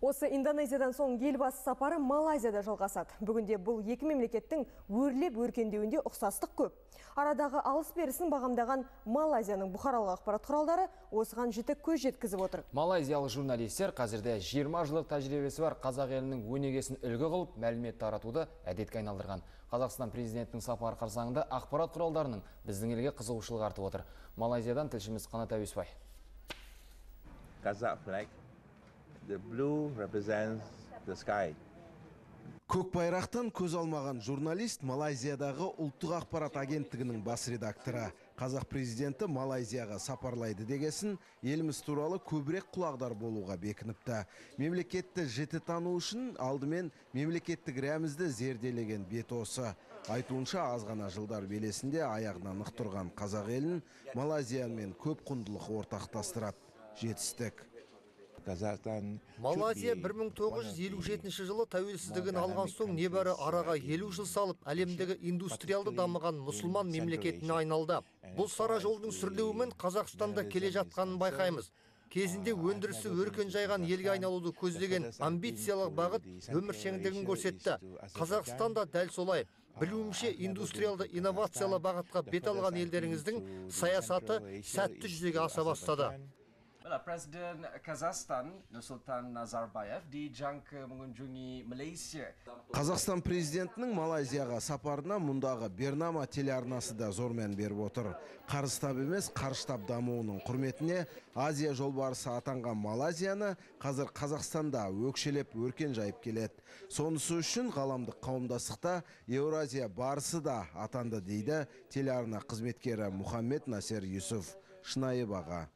Осы Индонезиядан соң елбасы сапары Малайзияда жалғасады. Бүгінде бұл екі мемлекеттің өрлеп өркендеуінде ұқсастық көп. Арадағы алыс-берісін бағамдаған Малайзияның бұқаралық ақпарат құралдары осыған жіті көз жеткізіп отыр. Малайзиялық журналистер қазірде 20 жылдық тәжірибесі бар қазақ елінің өнегесін үлгі қылып, мәлімет таратуды әдетке айналдырған. Қазақстан президентінің сапары қарсаңында ақпарат құралдарының біздің елге қызығушылық артып отыр. Малайзиядан тілшіміз Қанат Әуесбай. Kazakh flag, the blue represents the sky. Көк байрақтан көз алмаған журналист Малайзиядағы ұлттық ақпарат агенттігінің бас редакторы. Қазақ президенті Малайзияға сапарлайды дегесін, еліміз туралы көбірек құлағдар болуға бекініпті. Мемлекетті жіті тану үшін алдымен мемлекеттік рәмізді зерделеген бет осы. Айтуынша аз ғана жылдар белесінде аяғынан нық тұрған қазақ елін Малайзиямен көп құндылық ортақтастырады. Жетістік. Малайзия 1957 жылы тәуелсіздігін алған соң небәрі араға 50 жыл салып, әлемдегі индустриалды дамыған мұсылман мемлекетіне айналды. Бұл сара жолдың сүрлеуімен Қазақстанда келе жатқанын байқаймыз. Кезінде өндірісі өркен жайған елге айналуды көздеген амбициялық бағыт өміршеңдігін көрсетті. Қазақстанда дәл солай. Білуімше индустриалды инновациялы бағытқа бет алған елдеріңіздің саясаты сәтті жүзеге аса бастады. Presiden Kazakhstan Nursultan Nazarbayev dijangka mengunjungi Malaysia. Қазақстан президентінің Малайзияға сапарына мұндағы Бернама телеарнасы да зор мән беріп отыр. Қарыстап емес, қарыштап дамуының құрметіне Азия жолбарысы атанған Малайзияны қазір Қазақстанда өкшелеп өркен жайып келеді. Сонысы үшін ғаламдық қауымдастықта Еуразия барысы да атанды дейді телеарна қызметкері Мұхаммед Насер Юсуф. Шынайы баға.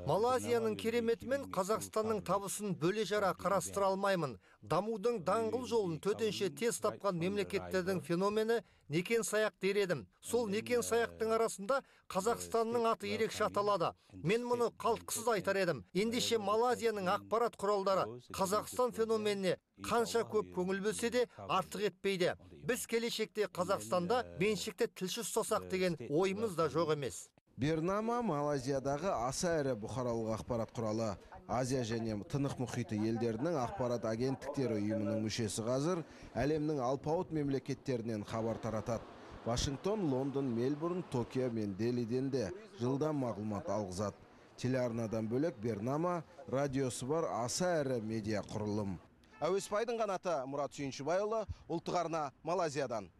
Малайзияның кереметімен Қазақстанның табысын бөле жара қарастыра алмаймын. Дамудың даңғыл жолын төтенше тез тапқан мемлекеттердің феномені некен саяқ дер едім. Сол некен саяқтың арасында Қазақстанның аты ерекше аталады. Мен мұны қалтқысыз айтар едім. Ендеше Малайзияның ақпарат құралдары Қазақстан феноменіне қанша көп көңіл бөлсе де артық етпейді. Біз келешекте Қазақстанда меншікті тілші ұстасақ деген ойымыз да жоқ емес. Бернама Малайзиядағы аса әрі бұқаралық ақпарат құралы. Азия және Тынық мұхиты елдерінің ақпарат агенттіктері ұйымының мүшесі қазір әлемнің алпауыт мемлекеттерінен хабар таратады. Вашингтон, Лондон, Мельбурн, Токио мен Делиден де жылдан мағлұмат алғызады. Телеарнадан бөлек Бернама радиосы бар аса әрі медиа құрылым. Әуесбайдың қанаты Мұрат Сүйіншібайұлы, ұлттық арна Малайзиядан.